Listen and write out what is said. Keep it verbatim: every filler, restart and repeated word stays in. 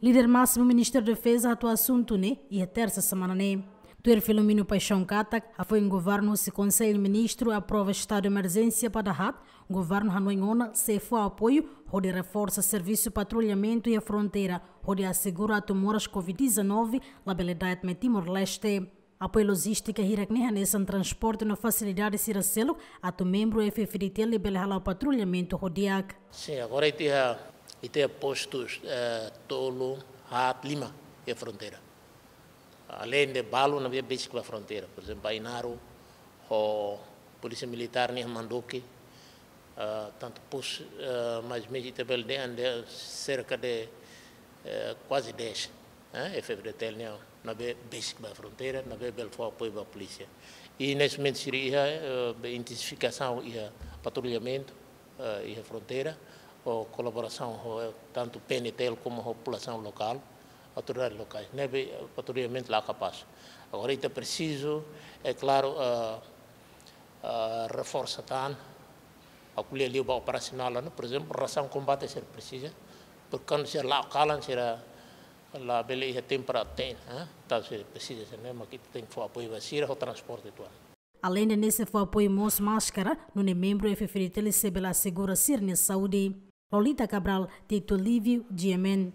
Líder másimu Ministériu Defeza hato'o asuntu ne'e iha tersa semana ne'e. Tuir Filomeno Paixão katak, hafoin governu husi Konsellu Ministru aprova estadu de emerjénsia para haat, governu hanoin ona sei fó apoiu hodi reforsa servisu patrullamentu iha fronteira, hodi asegura atu moras covid dezanove labele da'et mai Timor-Leste. Apoiu lojístika hirak ne'e hanesan transporte no fasilidade sira seluk atu membru F-FDTL bele hala'o patrullamentu ho di'ak. Sin, agora ita iha, ita iha postus, eh, tolu, haat, lima iha fronteira. Aleinde balu ne'ebé besik ba fronteira, por ezemplu, Ainaro, ho Polísia Militár nian Manduki, eh, tantu pos, eh, mais ou menos ita bele dehan dehan serka de, eh, kuaze dez, eh, F-FDTL nian ne'ebé besik ba fronteira, ne'ebé bele fó apoiu ba polísia. I neste momento sira iha, eh, be intensifikasaun iha patrullamentu, eh, iha fronteira, ho kolaborasaun ho, eh, tantu PNTL komu ho populasaun lokál, autoridades lokais. Ne'ebé, eh, patrullamentu la kapás. Agora ita presiza, é klaru, eh, eh, reforsa tan, ko'alia liu ba operasionál, ne'e, por ezemplu, rasaun kombate sira presiza, porke kuandu sira la'o kalan sira labele iha tempu para te'in, eh? Entaun sira presiza, sira ne'e mak ita tenke fó apoiu ba sira ho transporte uitoan. Aleinde ne'e sei fó apoiu mós máskara, nune'e membru F-FDTL sei bele asegura sira-nia saúde. Lolita Cabral, Tito Livio, G M N.